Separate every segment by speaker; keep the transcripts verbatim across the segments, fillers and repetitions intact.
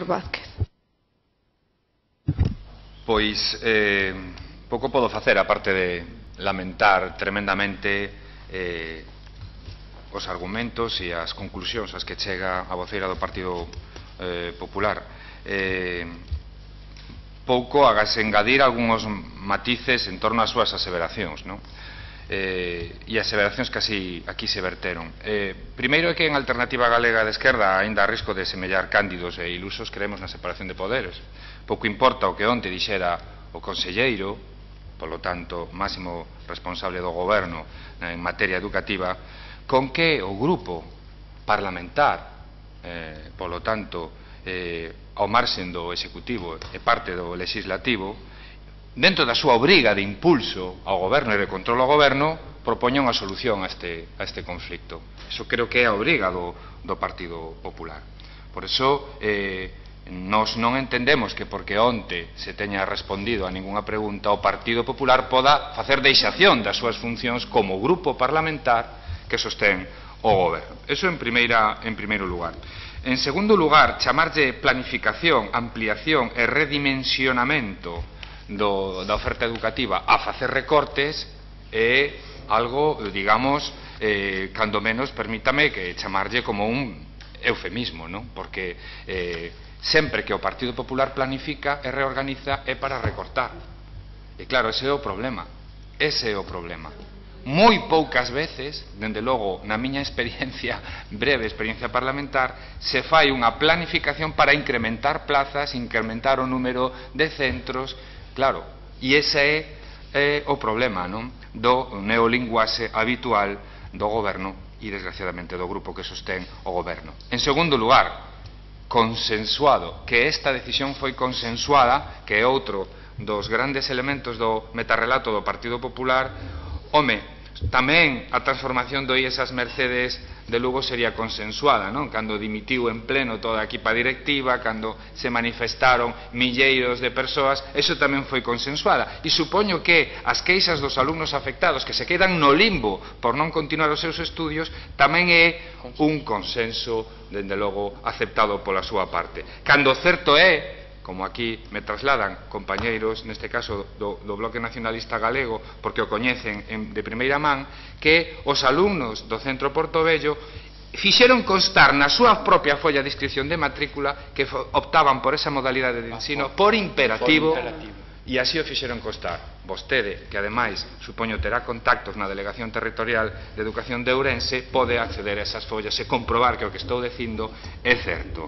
Speaker 1: señor Vázquez.
Speaker 2: Pois eh, pouco podo facer, aparte de lamentar tremendamente eh, os argumentos e as conclusións ás que chega a voceira do Partido eh, Popular. Eh, pouco agase engadir algúns matices en torno ás súas aseveracións, non? Eh, e aseveracións que así aquí se verteron. Eh, primeiro é que en Alternativa Galega de Esquerda, aínda a risco de semellar cándidos e ilusos, creemos na separación de poderes. Pouco importa o que onte dixera o conselleiro, polo tanto, máximo responsable do goberno en materia educativa, con que o grupo parlamentar, eh, polo tanto, eh, ao marxen do executivo e parte do legislativo, dentro da súa obriga de impulso ao goberno e de control ao goberno, propoña unha solución a este, a este conflicto. Iso creo que é a obriga do, do Partido Popular. Por iso, eh, nos non entendemos que porque onte se teña respondido a ningunha pregunta o Partido Popular poda facer deixación das súas funcións como grupo parlamentar que sostén o goberno. Eso en, primeira, en primeiro lugar. En segundo lugar, chamarlle planificación, ampliación e redimensionamento Do, da oferta educativa a facer recortes é algo, digamos, eh, cando menos, permítame que chamarlle como un eufemismo, non? Porque eh, sempre que o Partido Popular planifica e reorganiza é para recortar. E claro, ese é o problema. Ese é o problema. Moi poucas veces, dende logo, na miña experiencia, breve experiencia parlamentar, se fai unha planificación para incrementar plazas, incrementar o número de centros. Claro, e ese é eh, o problema, non? Do neolinguaxe habitual do goberno e, desgraciadamente, do grupo que sostén o goberno. En segundo lugar, consensuado, que esta decisión foi consensuada, que é outro dos grandes elementos do metarrelato do Partido Popular. Home, tamén a transformación do I E S ás Mercedes de Lugo sería consensuada, non? Cando dimitiu en pleno toda a equipa directiva, cando se manifestaron milleiros de persoas, eso tamén foi consensuada. E supoño que as queixas dos alumnos afectados que se quedan no limbo por non continuar os seus estudios tamén é un consenso, dende logo, aceptado pola súa parte. Cando certo é, como aquí me trasladan compañeiros, neste caso do, do Bloque Nacionalista Galego, porque o coñecen en, de primeira man, que os alumnos do Centro Portobello fixeron constar na súa propia folla de inscripción de matrícula que optaban por esa modalidade de ensino por imperativo, e así o fixeron constar. Vostede, que ademais, supoño, terá contactos na Delegación Territorial de Educación de Ourense, pode acceder a esas follas e comprobar que o que estou dicindo é certo.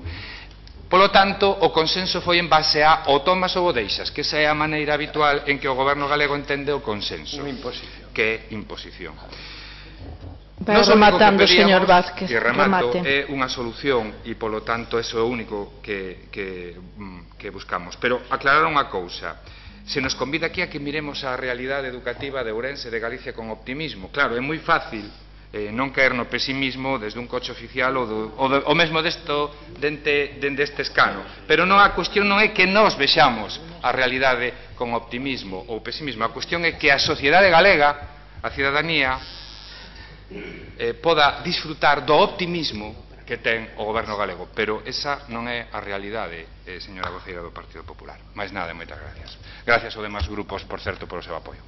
Speaker 2: Polo tanto, o consenso foi en base a o tomas ou o deixas, que esa é a maneira habitual en que o goberno galego entende o consenso, que é imposición.
Speaker 1: Vai rematando, señor Vázquez.
Speaker 2: E remato, é unha solución e, polo tanto, eso é o único que, que, que buscamos. Pero aclarar unha cousa. Se nos convida aquí a que miremos a realidade educativa de Ourense, de Galicia, con optimismo. Claro, é moi fácil Eh, non caer no pesimismo desde un coche oficial ou, do, ou, do, ou mesmo desto dente, dende este escano, pero non, a cuestión non é que nós vexamos a realidade con optimismo ou pesimismo, a cuestión é que a sociedade galega, a cidadanía, eh, poda disfrutar do optimismo que ten o goberno galego, pero esa non é a realidade, eh, señora voceira do Partido Popular. Mais nada, moitas gracias. Gracias aos demais grupos, por certo, polo seu apoio.